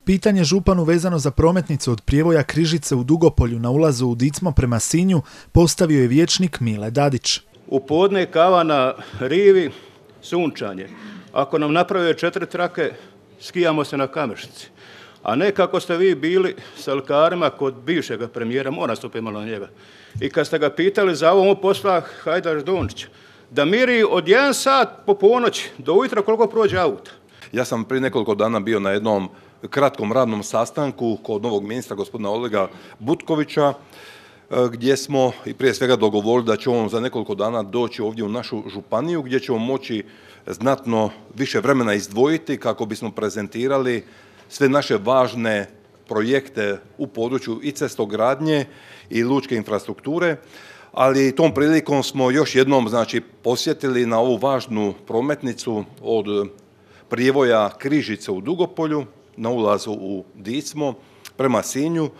Pitanje županu vezano za prometnicu od prijevoja Križice u Dugopolju na ulazu u Dicmo prema Sinju postavio je vijećnik Mile Dadić. U podne kava na rivi, sunčanje. Ako nam naprave 4 trake, skijamo se na Kamešnici. A ne kako ste vi bili s alkarima kod bivšega premijera, moram stupiti malo na njega. I kad ste ga pitali za ovo posla Hajdaš Dončić, da miri od 1 sat po ponoći do ujutro koliko prođe auta. Ja sam prije nekoliko dana bio na jednom kratkom radnom sastanku kod novog ministra gospodina Olega Butkovića, gdje smo i prije svega dogovorili da će on za nekoliko dana doći ovdje u našu županiju, gdje ćemo moći znatno više vremena izdvojiti kako bismo prezentirali sve naše važne projekte u području i cestogradnje i lučke infrastrukture, ali tom prilikom smo još jednom posjetili na ovu važnu prometnicu od prijevoja Križice u Dugopolju na ulazu u Dicmo prema Sinju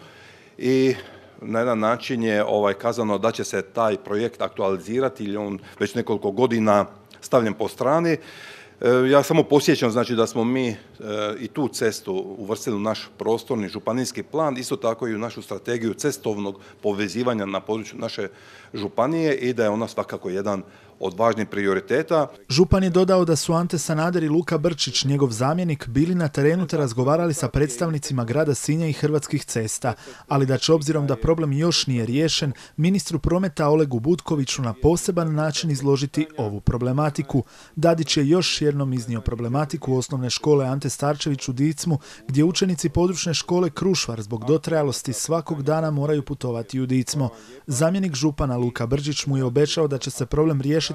i na jedan način je kazano da će se taj projekt aktualizirati ili on već nekoliko godina stavljen po strani. Ja samo podsjećam da smo mi i tu cestu uvrstili u naš prostorni županijski plan, isto tako i u našu strategiju cestovnog povezivanja na području naše županije i da je ona svakako jedan od važnih prioriteta. Župan je dodao da su Ante Sanader i Luka Brčić, njegov zamjenik, bili na terenu te razgovarali sa predstavnicima grada Sinja i Hrvatskih cesta, ali da će obzirom da problem još nije riješen, ministru prometa Olegu Butkoviću na poseban način izložiti ovu problematiku. Dadić je još jednom iznio problematiku osnovne škole Ante Starčević u Dicmu, gdje učenici područne škole Krušvar zbog dotrajalosti svakog dana moraju putovati u Dicmo. Zamjenik župana Luka Brčić mu je obećao da će se problem riješiti,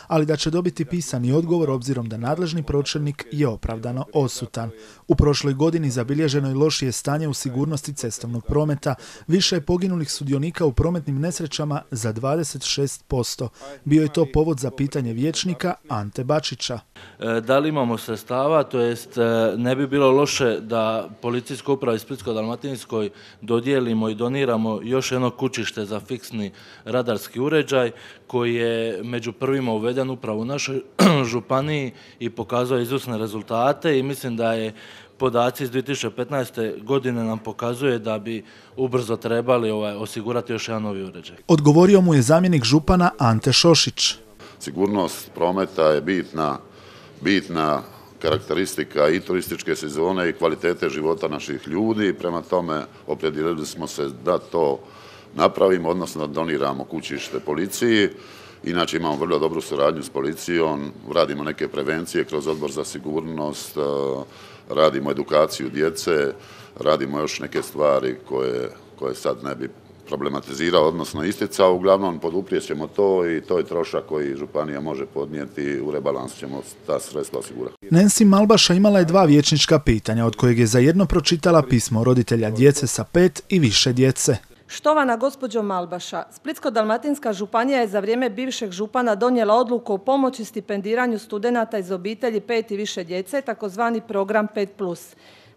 ali da će dobiti pisani odgovor obzirom da nadležni pročelnik je opravdano odsutan. U prošloj godini zabilježeno je lošije stanje u sigurnosti cestovnog prometa, više je poginulih sudionika u prometnim nesrećama za 26%. Bio je to povod za pitanje vijećnika Ante Bačića. Da li imamo sredstava, to jest ne bi bilo loše da Policijskoj upravi Splitsko-dalmatinskoj dodijelimo i doniramo još jedno kućište za fiksni radarski uređaj koji je među prvima uveden upravo u našoj županiji i pokazuje izvrsne rezultate i mislim da je podaci iz 2015. godine nam pokazuje da bi ubrzo trebali osigurati još jedan novi uređaj. Odgovorio mu je zamjenik župana Ante Šošić. Sigurnost prometa je bitna karakteristika i turističke sezone i kvalitete života naših ljudi. Prema tome opredijelili smo se da to napravimo, odnosno da doniramo kućište policiji. Inače imamo vrlo dobru suradnju s policijom, radimo neke prevencije kroz odbor za sigurnost, radimo edukaciju djece, radimo još neke stvari koje sad ne bi problematizirao, odnosno isticao. Uglavnom poduprijet ćemo to i to je trošak koji županija može podnijeti, u rebalansu ćemo ta sredstva osigurati. Nancy Malbaša imala je 2 vijećnička pitanja, od kojeg je za jedno pročitala pismo roditelja djece sa 5 i više djece. Štovana gospođo Malbaša, Splitsko-dalmatinska županija je za vrijeme bivšeg župana donijela odluku o pomoći stipendiranju studenata iz obitelji 5 i više djece, takozvani program 5+.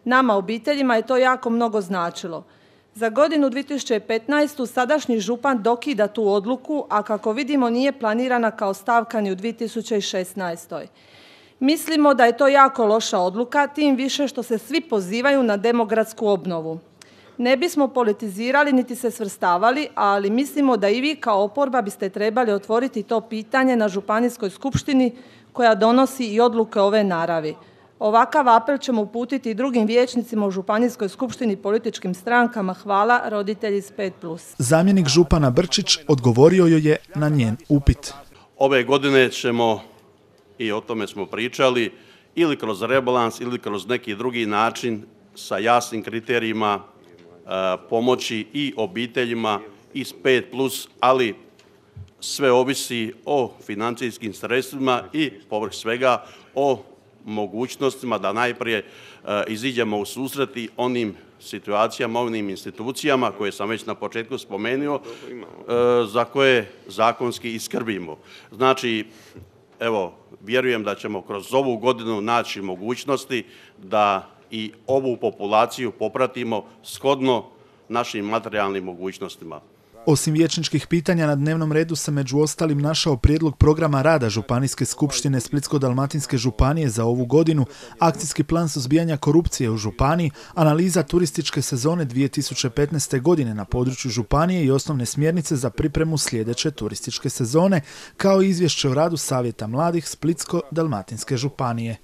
Nama obiteljima je to jako mnogo značilo. Za godinu 2015. sadašnji župan dokida tu odluku, a kako vidimo nije planirana kao stavka ni u 2016. Mislimo da je to jako loša odluka, tim više što se svi pozivaju na demografsku obnovu. Ne bismo politizirali niti se svrstavali, ali mislimo da i vi kao oporba biste trebali otvoriti to pitanje na županijskoj skupštini koja donosi i odluke ove naravi. Ovakav apel ćemo uputiti i drugim vijećnicima u županijskoj skupštini političkim strankama. Hvala, roditelji s 5+. Zamjenik župana Brčić odgovorio joj je na njen upit. Ove godine ćemo, i o tome smo pričali, ili kroz rebalans ili kroz neki drugi način sa jasnim kriterijima pomoći i obiteljima iz 5+, ali sve ovisi o financijskim sredstvima i povrh svega o mogućnostima da najprije iziđemo u susret i onim situacijama, onim institucijama koje sam već na početku spomenuo, za koje zakonski i skrbimo. Znači, evo, vjerujem da ćemo kroz ovu godinu naći mogućnosti da i ovu populaciju popratimo shodno našim materijalnim mogućnostima. Osim vijećničkih pitanja na dnevnom redu se među ostalim našao prijedlog programa rada Županijske skupštine Splitsko-dalmatinske županije za ovu godinu, akcijski plan suzbijanja korupcije u županiji, analiza turističke sezone 2015. godine na području županije i osnovne smjernice za pripremu sljedeće turističke sezone, kao i izvješće o radu Savjeta mladih Splitsko-dalmatinske županije.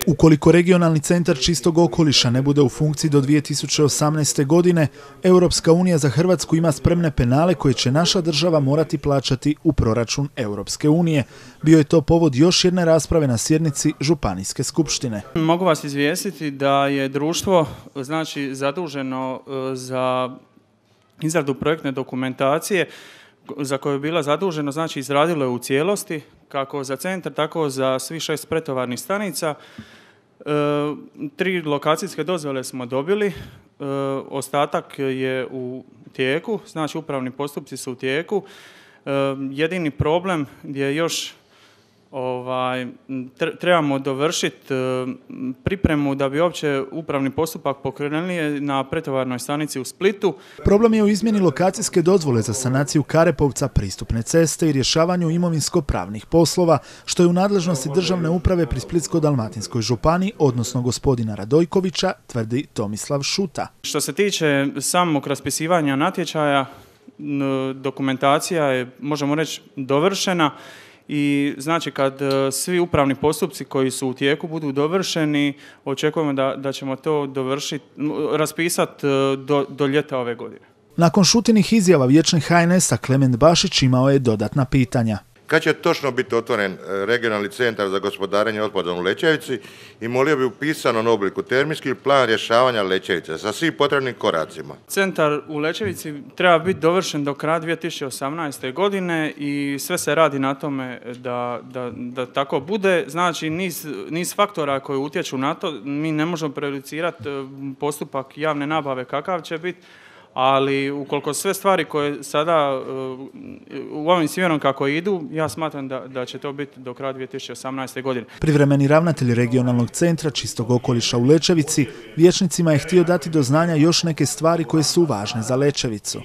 Ukoliko regionalni centar čistog okoliša ne bude u funkciji do 2018. godine, Europska unija za Hrvatsku ima spremne penale koje će naša država morati plaćati u proračun Europske unije. Bio je to povod još jedne rasprave na sjednici Županijske skupštine. Mogu vas izvijestiti da je društvo zaduženo za izradu projektne dokumentacije za koju je bila zaduženo, izradilo je u cijelosti, kako za centar, tako za svih 6 pretovarnih stanica. 3 lokacijske dozvole smo dobili, ostatak je u tijeku, upravni postupci su u tijeku. Jedini problem gdje još trebamo dovršiti pripremu da bi uopće upravni postupak pokrenuli na pretovarnoj stanici u Splitu. Problem je u izmjeni lokacijske dozvole za sanaciju Karepovca, pristupne ceste i rješavanju imovinsko-pravnih poslova, što je u nadležnosti državne uprave pri Splitsko-dalmatinskoj županiji, odnosno gospodina Radojkovića, tvrdi Tomislav Šuta. Što se tiče samog raspisivanja natječaja, dokumentacija je, možemo reći, dovršena. I kad svi upravni postupci koji su u tijeku budu dovršeni, očekujemo da ćemo to raspisati do ljeta ove godine. Nakon Šutinih izjava vijećnik HNS-a Klement Bašić imao je dodatna pitanja. Kad će točno biti otvoren regionalni centar za gospodarenje otpadom u Lećevici i molio bi u pisanom obliku terminski plan rješavanja Lećevice sa svim potrebnim koracima. Centar u Lećevici treba biti dovršen do kraja 2018. godine i sve se radi na tome da tako bude. Niz faktora koji utječu na to, mi ne možemo prejudicirati postupak javne nabave kakav će biti, ali ukoliko sve stvari koje sada u ovim smjerom kako idu, ja smatram da će to biti do kraja 2018. godine. Privremeni ravnatelj regionalnog centra čistog okoliša u Lećevici vijećnicima je htio dati do znanja još neke stvari koje su važne za Lećevicu.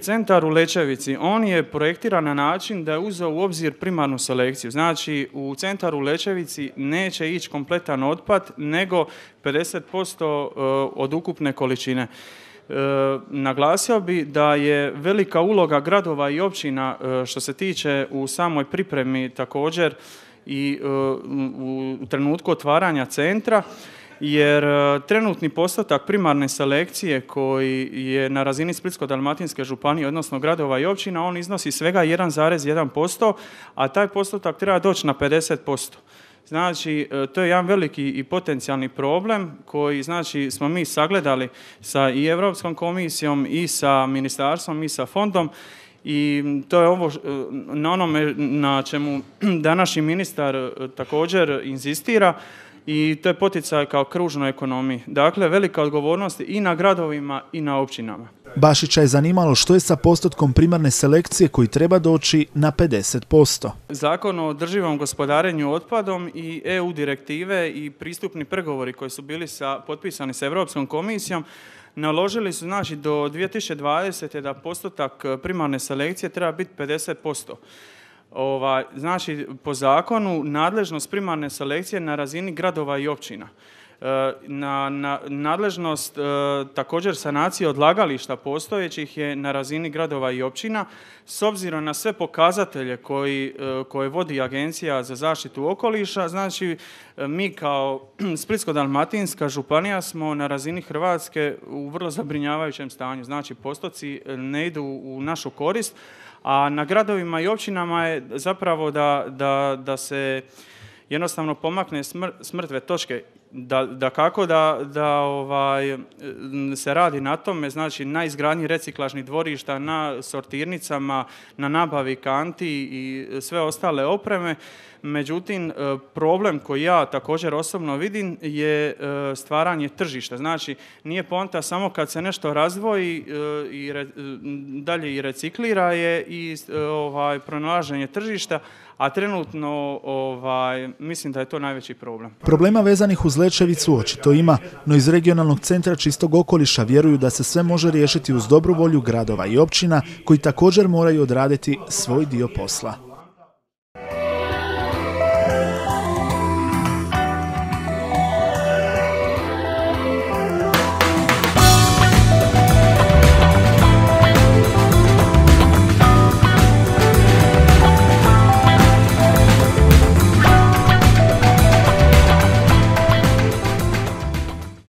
Centar u Lećevici, on je projektiran na način da je uzeo u obzir primarnu selekciju. U centar u Lećevici neće ići kompletan otpad, nego 50% od ukupne količine. Naglasio bi da je velika uloga gradova i općina što se tiče u samoj pripremi također i u trenutku otvaranja centra, jer trenutni postotak primarne selekcije koji je na razini Splitsko-dalmatinske županije, odnosno gradova i općina, on iznosi svega 1,1%, a taj postotak treba doći na 50%. To je jedan veliki i potencijalni problem koji smo mi sagledali sa i Europskom komisijom i sa ministarstvom i sa fondom i to je ovo na onome na čemu današnji ministar također inzistira i to je poticaj kao kružnoj ekonomiji. Dakle, velika odgovornost i na gradovima i na općinama. Bašića je zanimalo što je sa postotkom primarne selekcije koji treba doći na 50%. Zakon o održivom gospodarenju otpadom i EU direktive i pristupni pregovori koji su bili potpisani sa Europskom komisijom naložili su do 2020. da postotak primarne selekcije treba biti 50%. Po zakonu nadležnost primarne selekcije na razini gradova i općina. Na nadležnost također sanacije odlagališta postojećih je na razini gradova i općina. S obzirom na sve pokazatelje koje vodi Agencija za zaštitu okoliša, mi kao Splitsko-dalmatinska županija smo na razini Hrvatske u vrlo zabrinjavajućem stanju. Postoci ne idu u našu korist, a na gradovima i općinama je zapravo da se jednostavno pomakne s mrtve točke. Kako se radi na tome, na izgradnji reciklažnih dvorišta, na sortirnicama, na nabavi kanti i sve ostale opreme. Međutim, problem koji ja također osobno vidim je stvaranje tržišta. Nije poanta samo kad se nešto razdvoji i dalje i reciklira je i pronalaženje tržišta, a trenutno mislim da je to najveći problem. Problema vezanih uz Lećevicu očito ima, no iz regionalnog centra čistog okoliša vjeruju da se sve može riješiti uz dobru volju gradova i općina koji također moraju odraditi svoj dio posla.